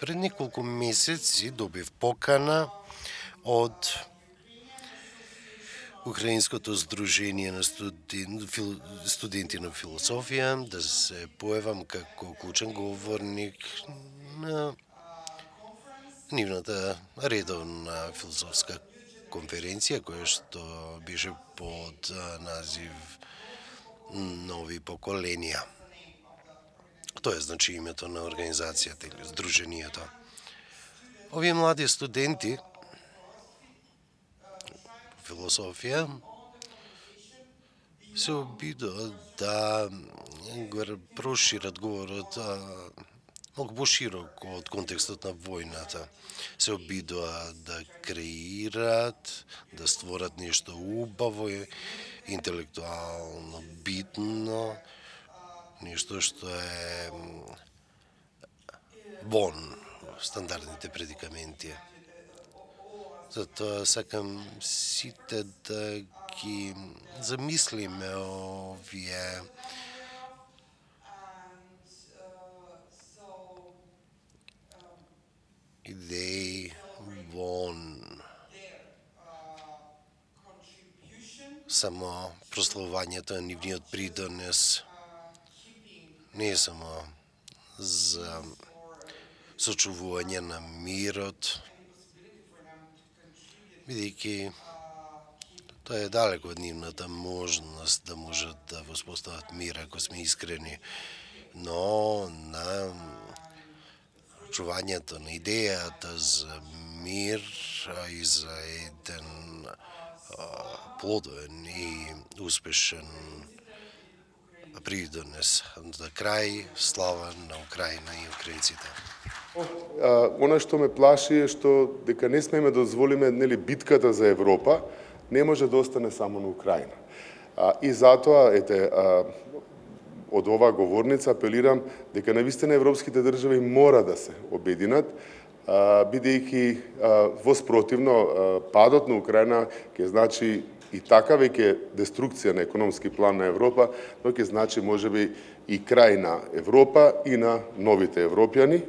Пред неколку месеци добив покана од Украинското здружение на студенти на философија да се појавам како клучен говорник на нивната редовна философска конференција, која што беше под назив Нови поколенија. Тоа е значи името на организацијата или здруженијето. Овие млади студенти философија се обидуваат да прошират говорот многу пошироко од контекстот на војната. Се обидуваат да креират, да створат нешто убаво, интелектуално битно, нешто што е вон стандардните предикаменти. Затоа сакам сите да ги замислиме овие идеи вон само прославувањето на нивниот придонес не е само за сочувување на мирот, бидејќи тоа е далеко од нивната можност да можат да воспостават мир ако сме искрени, но на чувањето на идејата за мир и за еден плодовен и успешен придонес. За крај, слава на Украина и украинците. Она што ме плаши е што дека не смеме да дозволиме битката за Европа не може да остане само на Украина. И затоа од оваа говорница апелирам дека навистина европските држави мора да се обединат, бидејќи воспротивно падот на Украина ќе значи и така веќе деструкција на економски план на Европа, но ќе значи можеби и крај на Европа и на новите европјани.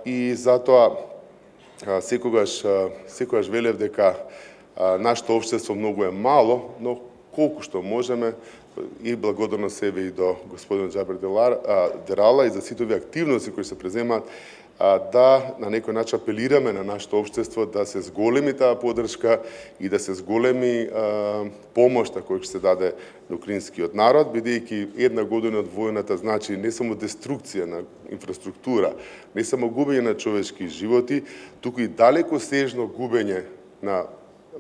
И затоа секогаш велев дека нашето општество многу е мало, но колку што можеме, и благодарно себе и до господин Джабер Дерала и за сите овие активности кои се преземаат, да на некој начин апелираме на нашето општество да се зголеми таа поддршка и да се зголеми помошта која ќе се даде на украинскиот народ, бидејќи една година од војната значи не само деструкција на инфраструктура, не само губење на човечки животи, туку и далеко сежно губење на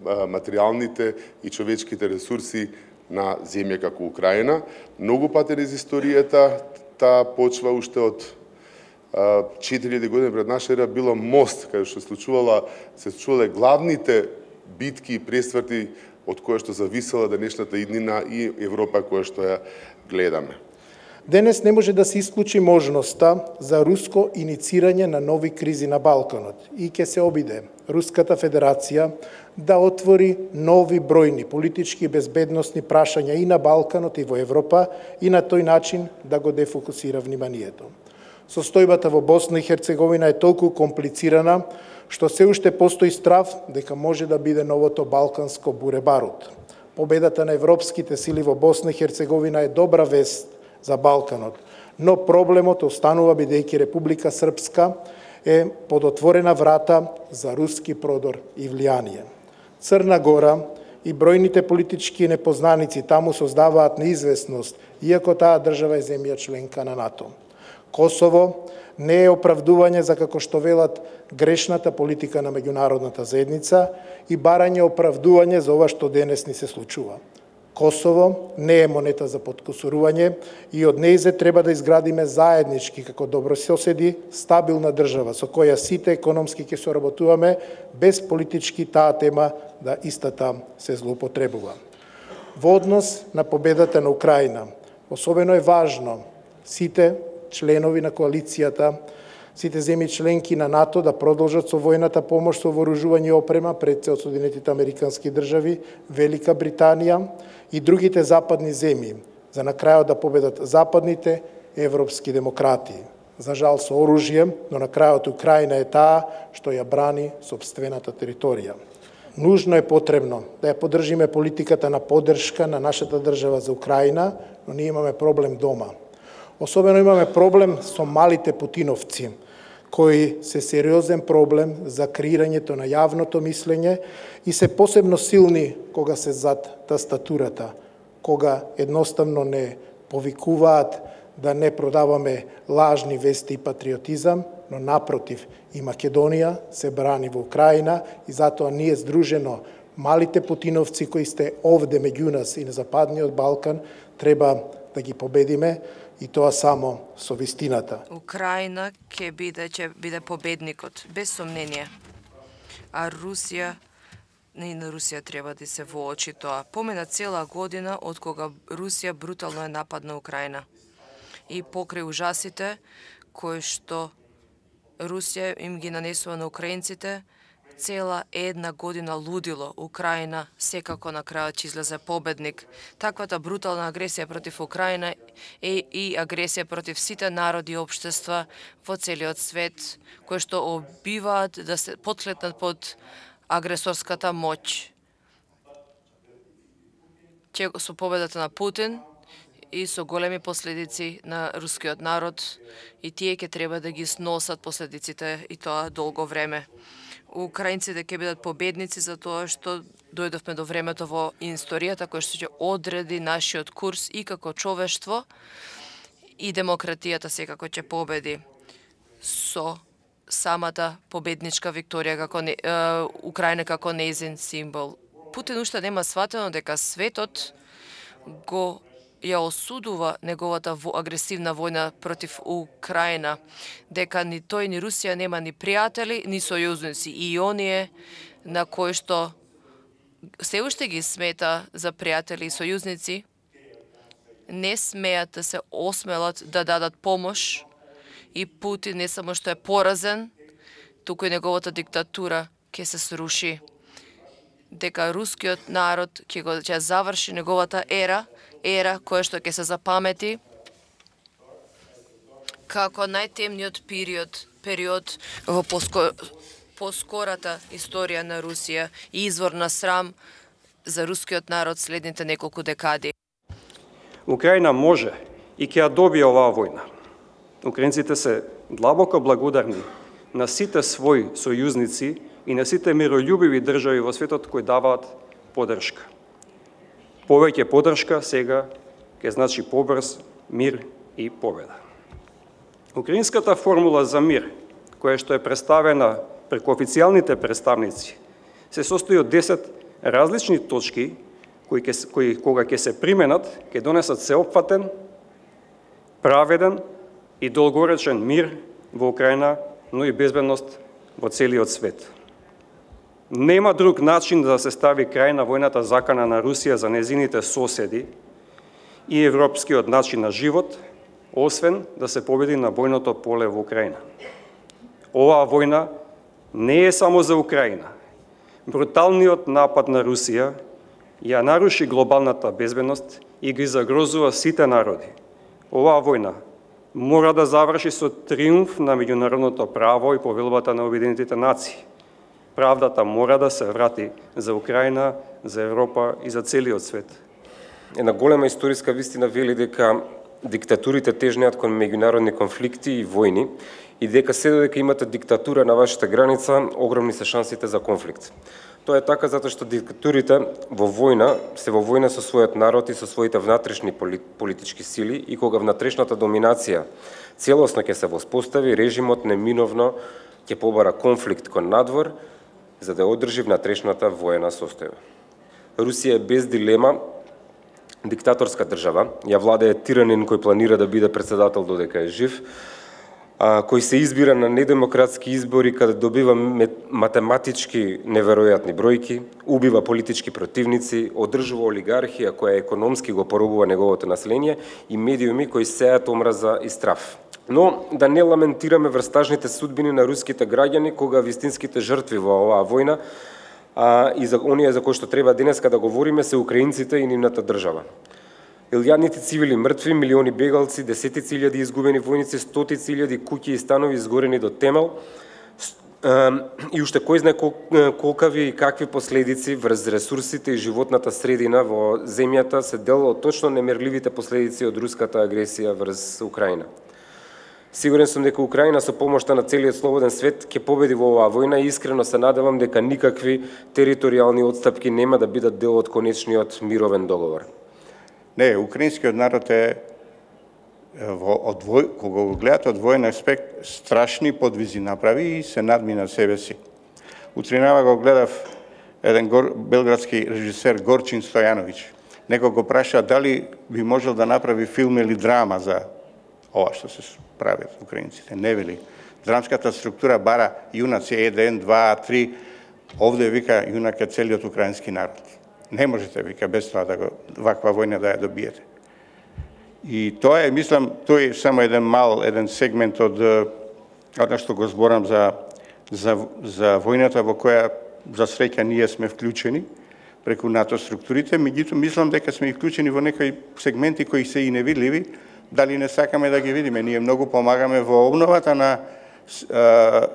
материјалните и човечките ресурси на земја како Украина. Многу пати низ историјата таа почва уште од 4000 години пред наша ера било мост каде што се случувале главните битки и пресврти од која што зависела денешната иднина и Европа која што ја гледаме. Денес не може да се исклучи можноста за руско иницирање на нови кризи на Балканот и ќе се обиде Руската Федерација да отвори нови бројни политички и безбедносни прашања и на Балканот и во Европа и на тој начин да го дефокусира вниманието. Состојбата во Босна и Херцеговина е толку комплицирана што се уште постои страв дека може да биде новото балканско буре-барут. Победата на европските сили во Босна и Херцеговина е добра вест за Балканот, но проблемот останува бидејќи Република Српска е под отворена врата за руски продор и влијание. Црна Гора и бројните политички непознаници таму создаваат неизвестност, иако таа држава е земја членка на НАТО. Косово не е оправдување за, како што велат, грешната политика на меѓународната заедница и барање оправдување за ова што денес ни се случува. Косово не е монета за подкусурување и од нејзе треба да изградиме заеднички како добрососеди стабилна држава со која сите економски ќе соработуваме без политички таа тема да истата се злоупотребува. Во однос на победата на Украина, особено е важно сите членови на коалицијата, сите земји членки на НАТО да продолжат со војната помош со вооружување и опрема пред се од Соединетите Американски држави, Велика Британија и другите западни земји, за на крајот да победат западните европски демократии. за жал со оружје, но на крајот Украина е таа што ја брани сопствената територија. Нужно е потребно да ја поддржиме политиката на поддршка на нашата држава за Украина, но ние имаме проблем дома. Особено имаме проблем со малите путиновци, кои се сериозен проблем за креирањето на јавното мислење и се посебно силни кога се зад тастатурата, кога едноставно не повикуваат да не продаваме лажни вести и патриотизам, но напротив, и Македонија се брани во Украина и затоа ние здружено, малите путиновци кои сте овде меѓу нас и на Западниот Балкан, треба да ги победиме и тоа само со вистината. Украина ќе биде победникот, без сомнение. А Русија, и на Русија треба да се воочи тоа. Помина цела година од кога Русија брутално е нападна Украина. И покрај ужасите кои што Русија им ги нанесува на украинците, цела една година лудило. Украина секако на крајот ќе излезе победник. Таквата брутална агресија против Украина е и агресија против сите народи и општества во целиот свет, кои што обиваат да се потлетнат под агресорската моќ. Со победата на Путин и со големи последици на рускиот народ, и тие ќе треба да ги сносат последиците и тоа долго време. Украинците ќе бидат победници за тоа што дојдовме до времето во историјата кој што ќе одреди нашиот курс и како човештво, и демократијата секако ќе победи со самата победничка викторија како Украина како нејзин символ. Путин уште нема сватено дека светот го ја осудува неговата агресивна војна против Украина, дека ни тој ни Русија нема ни пријатели, ни сојузници, и оние на кои што се уште ги смета за пријатели и сојузници, не смеат да се осмелат да дадат помош, и Путин не само што е поразен, туку и неговата диктатура ќе се сруши. Дека рускиот народ ќе заврши неговата ера која што ќе се запамети како најтемниот период во поскората историја на Русија и извор на срам за рускиот народ следните неколку декади. Украина може и ќе ја добие оваа војна. Украинците се длабоко благодарни на сите своји сојузници и на сите мирољубиви држави во светот кои даваат поддршка. Повеќе поддршка сега ќе значи побрз мир и победа. Украинската формула за мир, која што е представена преку официјалните представници, се состои од 10 различни точки кои кога ќе се применат, ќе донесат сеопфатен, праведен и долгоречен мир во Украина, но и безбедност во целиот свет. Нема друг начин да се стави крај на војната закана на Русија за незините соседи и европскиот начин на живот, освен да се победи на војното поле во Украина. Оваа војна не е само за Украина. Бруталниот напад на Русија ја наруши глобалната безбедност и ги загрозува сите народи. Оваа војна мора да заврши со триумф на меѓународното право и повелбата на Обединетите нации. Правдата мора да се врати за Украина, за Европа и за целиот свет. Една голема историска вистина вели дека диктатурите тежнеат кон меѓународни конфликти и војни и дека се додека имате диктатура на вашата граница, огромни се шансите за конфликт. Тоа е така затоа што диктатурите во војна со својот народ и со своите внатрешни политички сили, и кога внатрешната доминација целосно ќе се воспостави, режимот неминовно ќе побара конфликт кон надвор за да одржи внатрешната воена состојба. Русија е без дилема диктаторска држава, ја владее тиранин кој планира да биде председател додека е жив, кој се избира на недемократски избори каде добива математички неверојатни бројки, убива политички противници, одржува олигархија која економски го поробува неговото население и медиуми кои сеат омраза и страф. Но да не ламентираме врстажните судбини на руските граѓани кога вистинските жртви во оваа војна и за оние за кои што треба денеска да говориме се украинците и нивната држава. илјадници цивили мртви, милиони бегалци, десетици илјади изгубени војници, стотици илјади куќи и станови изгорени до темел, и уште кој знае колкави и какви последици врз ресурсите и животната средина во земјата се дел од точно немерливите последици од руската агресија врз Украина. Сигурен сум дека Украина со помошта на целиот слободен свет ќе победи во оваа војна и искрено се надевам дека никакви територијални отстапки нема да бидат дел од конечниот мировен договор. Не, украинскиот народ е кога го гледате од војен аспект, страшни подвизи направи и се надмина себе си. Утринава го гледав еден белградски режисер Горчин Стојановиќ. Некој го праша дали би можел да направи филм или драма за ова што се прават украинците. Не вели. Драмската структура бара јунаци 1, 2, 3. Овде вика јунак е целиот украински народ. Не можете, вика, без тоа да ваква војна да ја добиете. И тоа е, мислам, тој е само еден сегмент од она што го зборам за војната во која за среќа ние сме вклучени преку НАТО структурите, меѓутоа мислам дека сме вклучени во некои сегменти кои се и невидливи, дали не сакаме да ги видиме. Ние многу помагаме во обновата на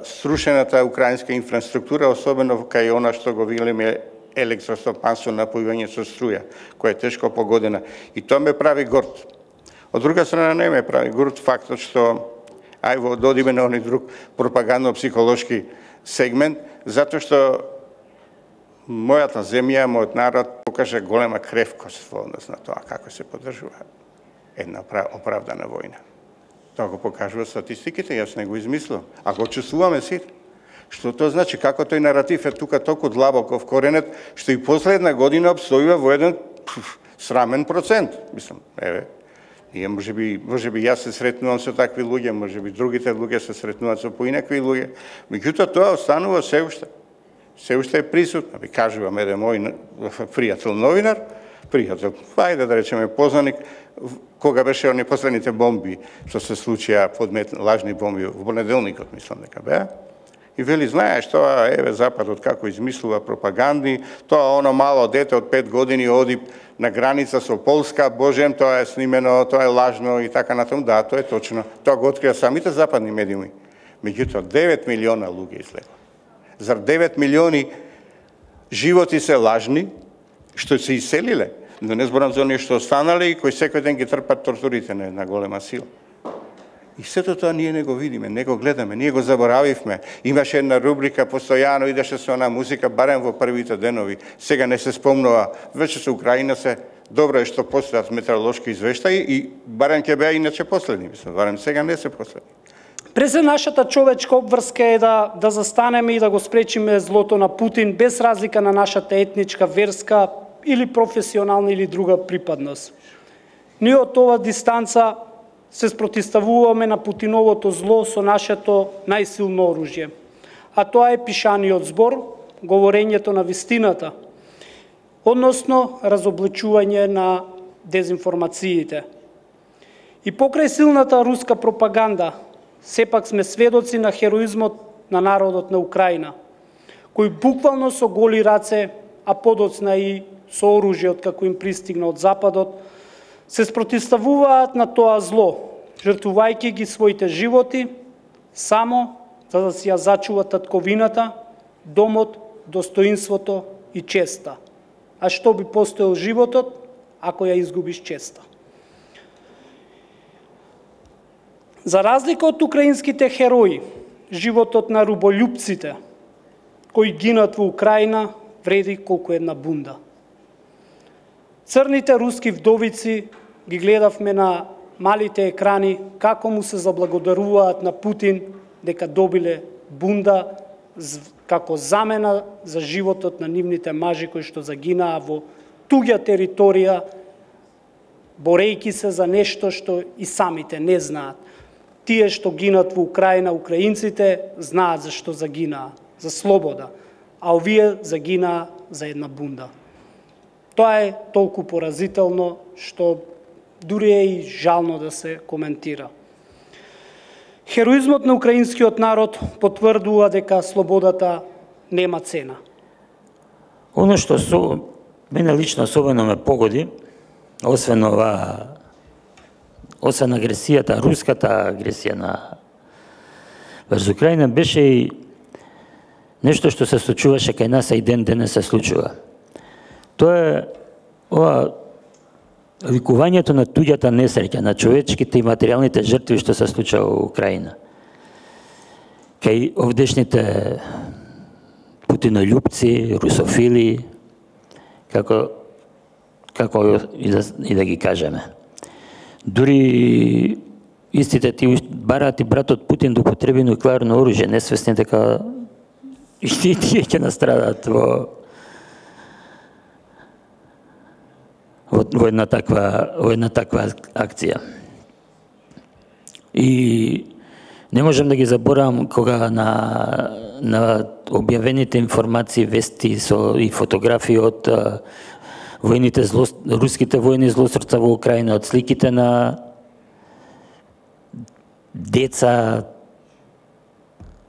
срушената украинска инфраструктура, особено кај она што го видиме електростопанство, напојување со струја, која е тешко погодена. И тоа ме прави горд. Од друга страна не ме прави горд фактот што додиме на оној друг пропагандно-психолошки сегмент, затоа што мојата земја, мојот народ покажа голема кревкост во однос на тоа како се поддржува една оправдана војна. Тоа го покажува статистиките, јас не го измислувам. А го чувствуваме сите. Што тоа значи? Како тој наратив е тука толку длабоко вкоренет, што и последна година обстојува во еден срамен процент. Мислам, ние можеби јас се сретнувам со такви луѓе, можеби другите луѓе се сретнуваат со поинакви луѓе, меѓутоа тоа останува се уште. Се уште е присутно. Ви кажувам еден мој пријател новинар, ајде да речеме познаник, кога беше они последните бомби што се случија, лажни бомби во понеделникот, мислам дека беа. И вели, знаеш, тоа, Западот како измислува пропаганди, тоа оно мало дете од 5 години оди на граница со Полска, божем, тоа е снимено, тоа е лажно и така натаму. Да, тоа е точно. Тоа го открија самите западни медиуми. Меѓутоа, 9 милиона луѓе излегла. Зар 9 милиони животи се лажни, што се иселиле? Но не зборам за оние што останале и кои секој ден ги трпат тортурите на една голема сила. И сето тоа ние не го видиме, не го гледаме, ние го заборавивме. Имаше една рубрика, постојано идеше со она музика, барем во првите денови. Сега не се спомнува, веќе со Украина се добро е што постојат метеоролошки извештаи и барем ќе беа иначе последни, мислам, барем сега не се последни. През нашата човечка обврска е да застанеме и да го спречиме злото на Путин без разлика на нашата етничка, верска или професионална или друга припадност. Ние од ова дистанца се спротиставуваме на Путиновото зло со нашето најсилно оружје. А тоа е пишаниот збор, говорењето на вистината, односно разобличување на дезинформациите. И покрај силната руска пропаганда, сепак сме сведоци на хероизмот на народот на Украина, кој буквално со голи раце, а подоцна и со оружје како им пристигна од Западот, се спротиставуваат на тоа зло, жртвувајќи ги своите животи, само за да си ја зачува татковината, домот, достоинството и честа. А што би постоел животот, ако ја изгубиш честа? За разлика од украинските херои, животот на руболюбците, кои гинат во Украина, вреди колку една бунда. Црните руски вдовици ги гледавме на малите екрани како му се заблагодаруваат на Путин дека добиле бунда како замена за животот на нивните мажи кои што загинаа во туѓа територија, борејќи се за нешто што и самите не знаат. Тие што гинат во Украина, украинците, знаат за што загинаа, за слобода, а овие загинаа за една бунда. Тоа е толку поразително што дури е и жално да се коментира. Хероизмот на украинскиот народ потврдува дека слободата нема цена. Оно што мене лично особено ме погоди освен агресијата, руската агресија врз Украина, беше и нешто што се случуваше кај нас, а и денес се случува. Тоа е викувањето на туѓата несреќа, на човечките и материјалните жртви што се случува во Украина. Кај овдешните путинољупци, русофили, како и да ги кажеме. Дури истите ти бараат и братот Путин да употреби нуклеарно оружје, несвесни дека и тие ќе настрадаат во една таква акција. И не можам да ги заборавам кога на објавените информации, вести и фотографии од руските војни злосторца во Украина, од сликите на деца,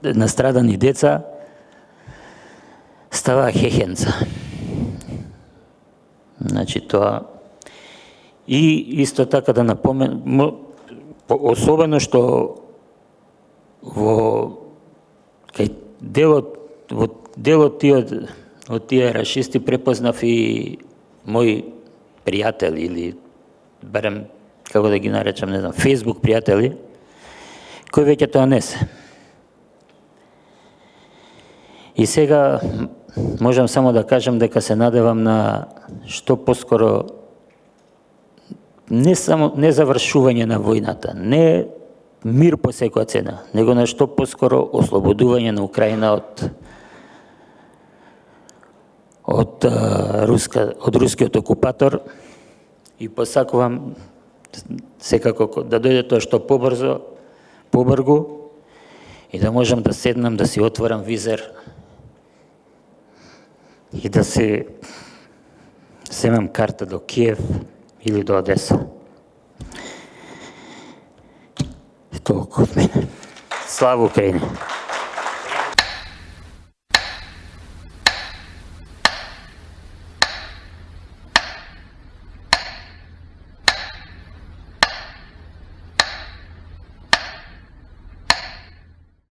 настрадани деца, става хехенца. Значи тоа. И исто така да напоменам, особено што кај делот од тие рашисти препознав и мои пријатели, или барем, како да ги наречам, не знам, Facebook пријатели, кои веќе тоа не се. И сега можам само да кажам дека се надевам на што поскоро не завршување на војната, не мир по секоја цена, него на што поскоро ослободување на Украина од рускиот окупатор, и посакувам секако да дојде тоа што побрзо и да можам да седнам, да си отворам визер и да си земам карта до Киев или до Одеса. Толку од мене. Слава Украина!